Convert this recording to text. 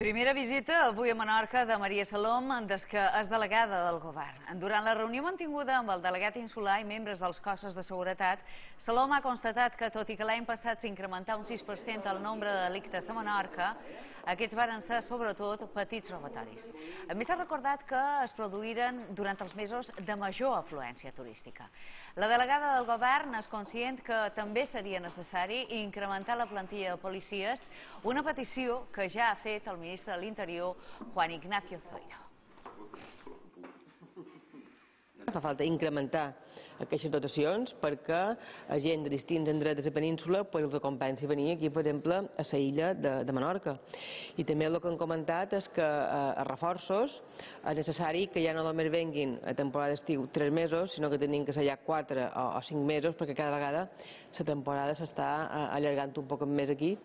Primera visita avui a Menorca de Maria Salom, des que és delegada del govern. Durant la reunió mantinguda amb el delegat insular i membres dels cossos de seguretat, Salom ha constatat que, tot i que l'any passat s'incrementà un 6% el nombre de delictes a Menorca, aquests varen ser sobretot petits robatoris. A més, ha recordat que es produïren durant els mesos de major afluència turística. La delegada del govern és conscient que també seria necessari incrementar la plantilla de policies, una petició que ja ha fet el ministre de l'Interior, Juan Ignacio Zoido. Fa falta incrementar aquestes dotacions perquè la gent de distints indrets de la península els acompanyi a venir aquí, per exemple, a la illa de Menorca. I també el que han comentat és que a reforços és necessari que ja no només venguin a temporada d'estiu 3 mesos, sinó que tenim que ser ja 4 o 5 mesos perquè cada vegada la temporada s'està allargant un poc més aquí.